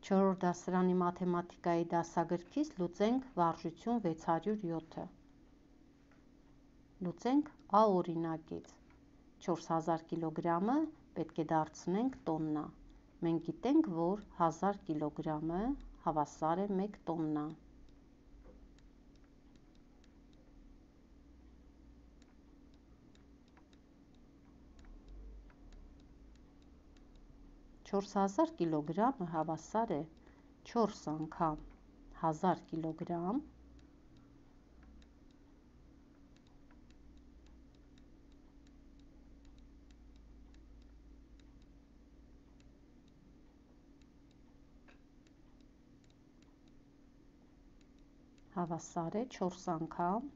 4-րդ դասարանի մաթեմատիկայի դասագրքից լուծենք վարժություն 607-ը։ Լուծենք A օրինակից։ 4000 կիլոգրամը պետք է դարձնենք տոննա։ Մենք գիտենք, որ 1000 կիլոգրամը հավասար է 1 տոննա։ Չորս հազար կիլոգրամը հավասար է 4 անգամ 1000 կիլոգրամ հավասար է 4 անգամ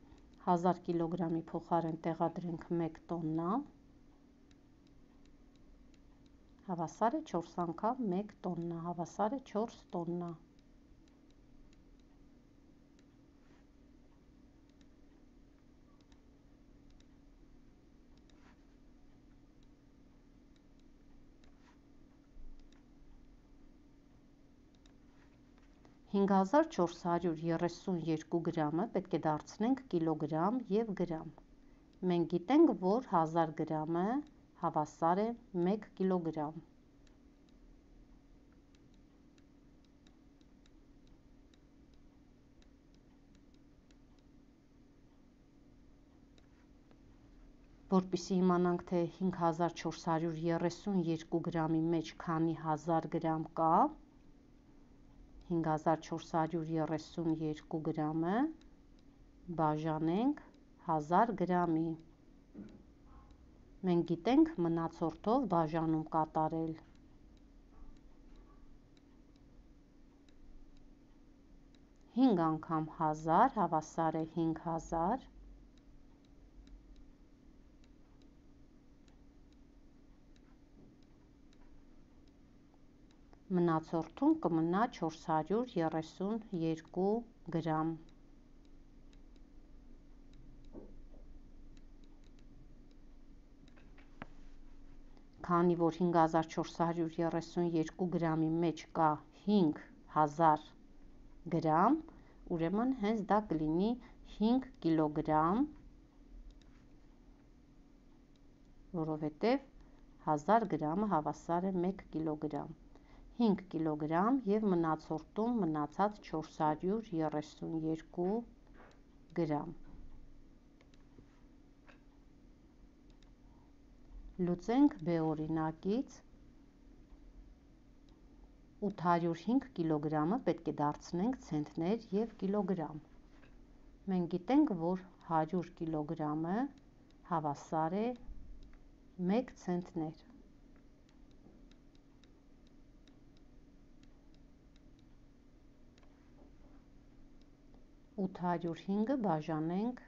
1000 կիլոգրամի փոխարեն տեղադրենք 1 տոննա հավասար է 4 անգամ 1 տոննա, հավասար է 4 տոննա։ Հինգ հազար 432 գրամը պետք է դարձնենք կիլոգրամ և գրամ։ Մենք գիտենք, որ 1000 գրամը հավասար է 1 կիլոգրամ։ Որպեսզի իմանանք, թե 5432 գրամի մեջ քանի 1000 գրամ կա, 5432 գրամը բաժանենք 1000 գրամի։ Մենք գիտենք մնացորդով բաժանում կատարել։ Հինգ անգամ 1000 հավասար է 5000։ Մնացորդում կմնա 432 գրամ։ Քանի որ 5432 գրամի մեջ կա 5000 գրամ, ուրեմն հենց դա կլինի 5 կիլոգրամ, որովհետև 1000 գրամը հավասար է 1 կիլոգրամ։ 5 կիլոգրամ և մնացորդում մնացած 432 գրամ։ Լուծենք B օրինակից 805 կիլոգրամը պետք է դարձնենք ցենտներ և կիլոգրամ։ Մենք գիտենք, որ 100 կիլոգրամը հավասար է 1 ցենտներ։ 805-ը բաժանենք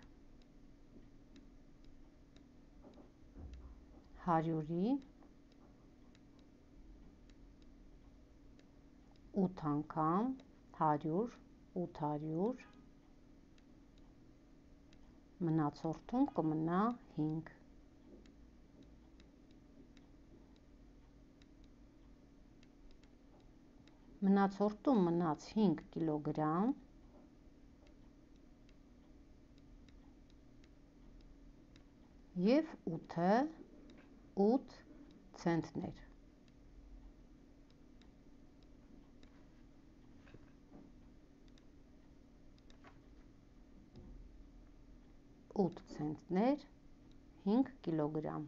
100-ի 8 անգամ 100 800 մնացորդում կմնա 5։ Մնացորդում մնաց 5 կիլոգրամ և 8-ը 8 ցենտներ։ 8 ցենտներ 5 կիլոգրամ։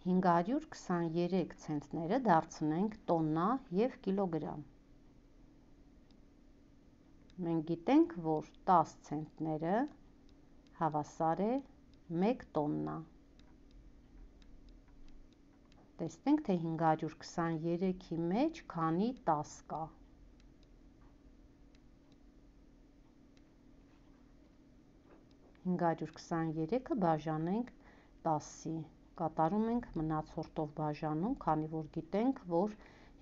523 ցենտները դարձնենք տոննա և կիլոգրամ։ Մենք գիտենք, որ 10 ցենտները հավասար է 1 տոննա։ Տեսնենք, թե 523-ի մեջ քանի 10 կա։ 523-ը բաժանենք 10-ի, կատարում ենք մնացորդով բաժանում, քանի որ գիտենք, որ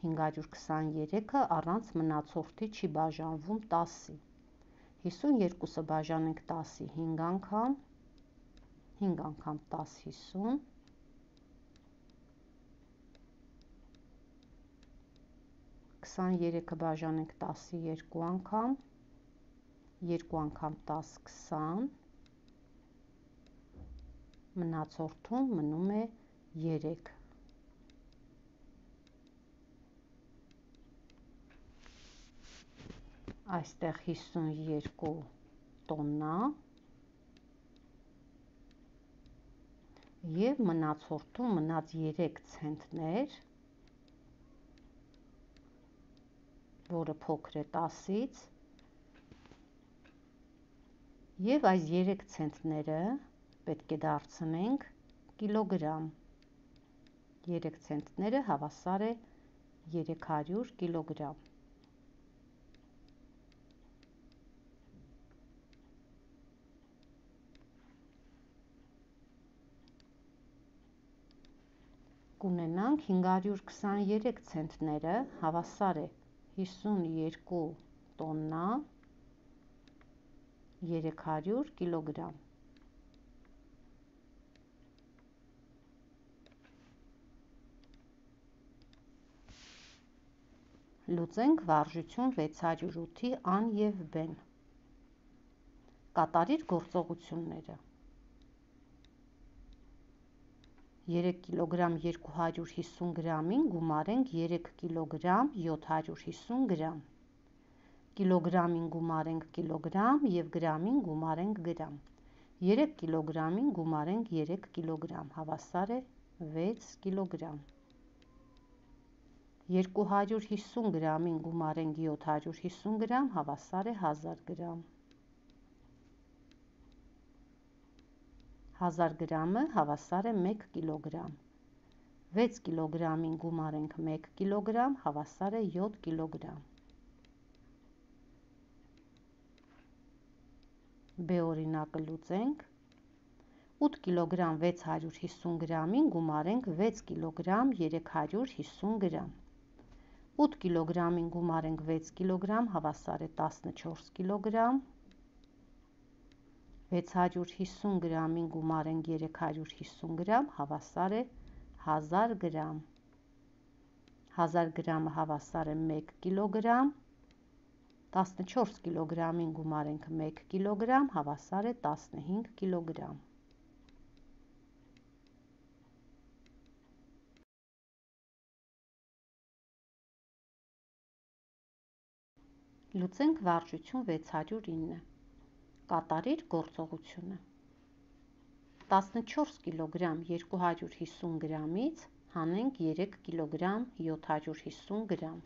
523-ը առանց մնացորդի չի բաժանվում 10-ի։ 52-ը բաժանենք 10-ի 5 անգամ 10 50 23-ը բաժանենք 10-ի 2 անգամ, 2 անգամ 10, 20, մնացորդում մնում է 3։ Այստեղ 52 տոննա և մնացորդում մնաց 3 ցենտներ, որը փոքր է 10-ից, և այս 3 ցենտները պետք է դարձնենք կիլոգրամ։ 3 ցենտները հավասար է 300 կիլոգրամ։ Կունենանք 523 ցենտները հավասար է 52 տոննա 300 կիլոգրամ։ Լուծենք վարժություն 608-ի ան և բեն։ Կատարիր գործողությունները։ 3 կիլոգրամ 250 գրամին գումարենք 3 կիլոգրամ 750 գրամ։ Կիլոգրամին գումարենք կիլոգրամ և գրամին գումարենք գրամ։ 3 կիլոգրամին գումարենք 3 կիլոգրամ, հավասար է 6 կիլոգրամ։ 250 գրամին գումարենք 750 գրամ, հավասար է 1000 գրամ։ 1000 գրամը հավասար է 1 կիլոգրամ։ 6 կիլոգրամին գումարենք 1 կիլոգրամ, հավասար է 7 կիլոգրամ։ B օրինակը լուծենք։ 8 կիլոգրամ 650 գրամին գումարենք 6 կիլոգրամ 350 գրամ։ 8 կիլոգրամին գումարենք 6 կիլոգրամ, հավասար է 14 կիլոգրամ։ 650 գրամին գումարենք 350 գրամ, հավասար է 1000 գրամ։ 1000 գրամը հավասար է 1 կիլոգրամ։ 14 կիլոգրամին գումարենք 1 կիլոգրամ, հավասար է 15 կիլոգրամ։ Լուծենք վարժություն 609։ Կատարիր գործողությունը։ 14 կիլոգրամ 250 գրամից հանենք 3 կիլոգրամ 750 գրամ։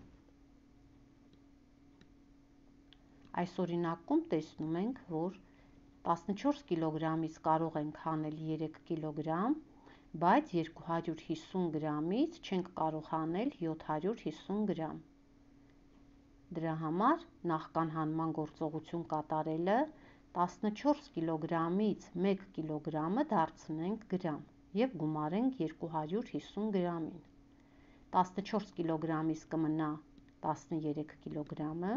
Այս օրինակում տեսնում ենք, որ 14 կիլոգրամից կարող ենք հանել 3 կիլոգրամ, բայց 250 գրամից չենք կարող հանել 750 գրամ։ Դրա համար նախքան հանման գործողություն կատարելը 14 կիլոգրամից 1 կիլոգրամը դարձնենք գրամ և գումարենք 250 գրամին։ 14 կիլոգրամից կմնա 13 կիլոգրամը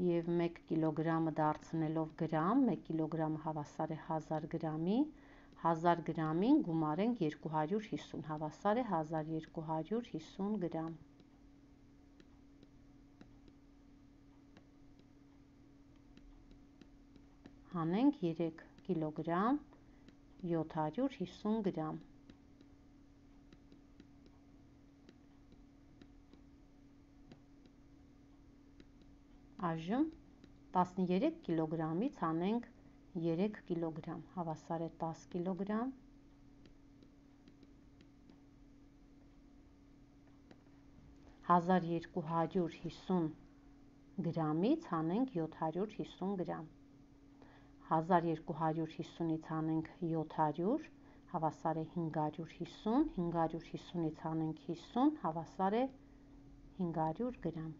և 1 կիլոգրամը դարձնելով գրամ, 1 կիլոգրամը հավասար է 1000 գրամի, 1000 գրամին գումարենք 250, հավասար է 1250 գրամ։ Հանենք 3 կիլոգրամ 750 գրամ։ Այժմ 13 կիլոգրամից հանենք 3 կիլոգրամ, հավասար է 10 կիլոգրամ։ 1250 գրամից հանենք 750 գրամ։ 1250-ից հանենք 700, հավասար է 550, 550-ից հանենք 50, հավասար է 500 գրամ։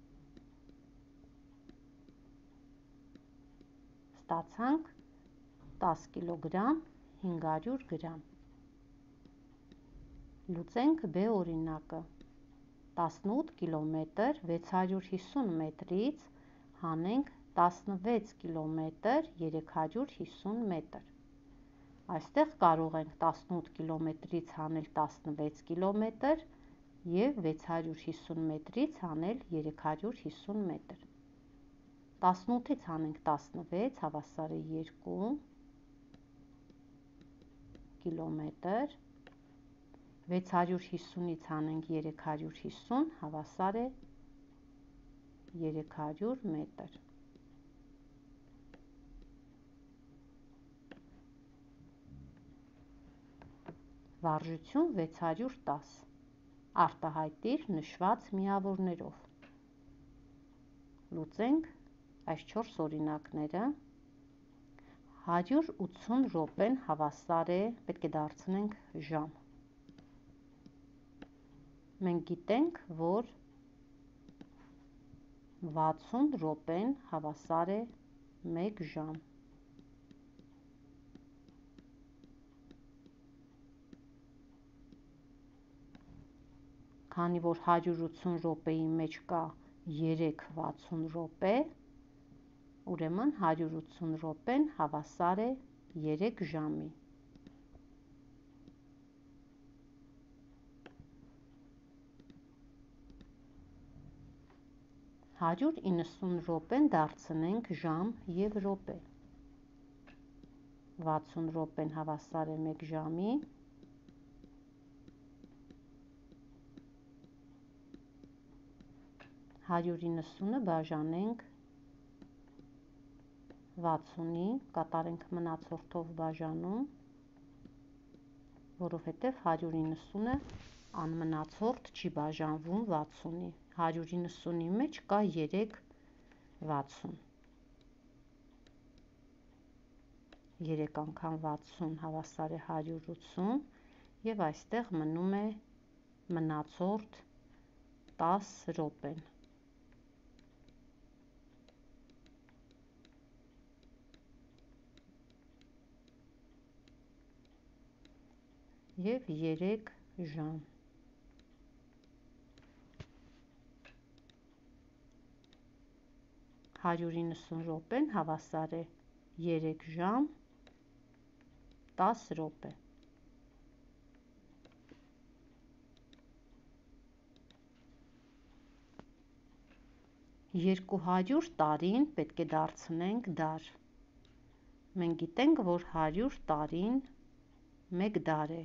Ստացանք 10 կիլոգրամ 500 գրամ։ Լուծենք B օրինակը։ 18 կիլոմետր 650 մետրից հանենք 16 կիլոմետր 350 մետր։ Այստեղ կարող ենք 18 կիլոմետրից հանել 16 կիլոմետր և 650 մետրից անել 350 մետր։ 18-ից անենք 16, հավասար է 2 կիլոմետր, 650-ից անենք 350, հավասար է 300 մետր։ Վարժություն 610, արտահայտիր նշված միավորներով։ Լուծենք այս 4 օրինակները։ 180 րոպեն հավասար է, պետք է դարձնենք ժամ։ Մենք գիտենք, որ 60 րոպեն հավասար է 1 ժամ։ Քանի որ 180 րոպեի մեջ կա 3 60 րոպե, ուրեմն 180 րոպեն հավասար է 3 ժամի։ Հաջորդ 90 րոպեն դարձնենք ժամ և րոպե։ 60 րոպեն հավասար է 1 ժամի, 190-ը բաժանենք 60-ի, կատարենք մնացորդով բաժանում, որովհետև 190-ը անմնացորդ չի բաժանվում 60-ի, 190-ի մեջ կա 3 60, 3 անգամ 60 հավասար է 180 և այստեղ մնում է մնացորդ 10 րոպեն։ Եվ 3 ժամ։ Հաջորդ րոպեն հավասար է 3 ժամ 10 րոպե։ Երկուհաջորդ տարին պետք է դարձնենք դար։ Մենք գիտենք, որ 100 տարին 1 դար է։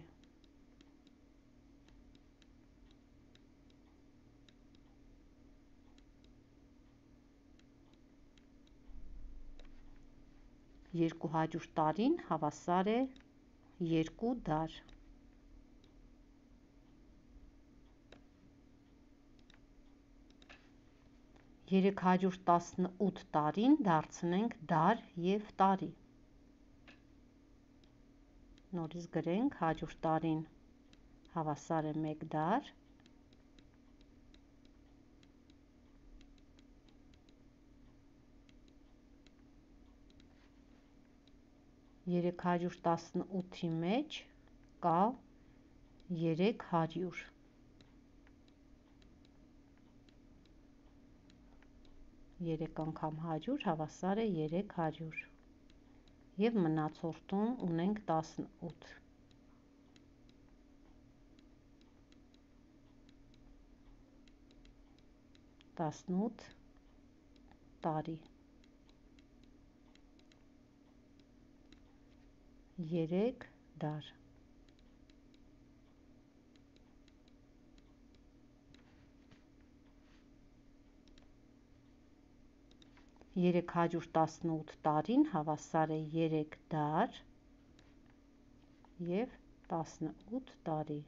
Երկուհաջորդ տարին հավասար է 2 դար։ Երեքհաջորդ 18 տարին դարձնենք դար և տարի։ Նորից գրենք, հաջորդ տարին հավասար է 1 դար, երեքհաջորդ 18-ի մեջ կա 300, երեք անգամ 100 հավասար է 300 և մնացորդում ունենք 18, 18 տարի, 3 դար։ Երեքհաջորդ 18 տարին հավասար է 3 դար և 18 տարի։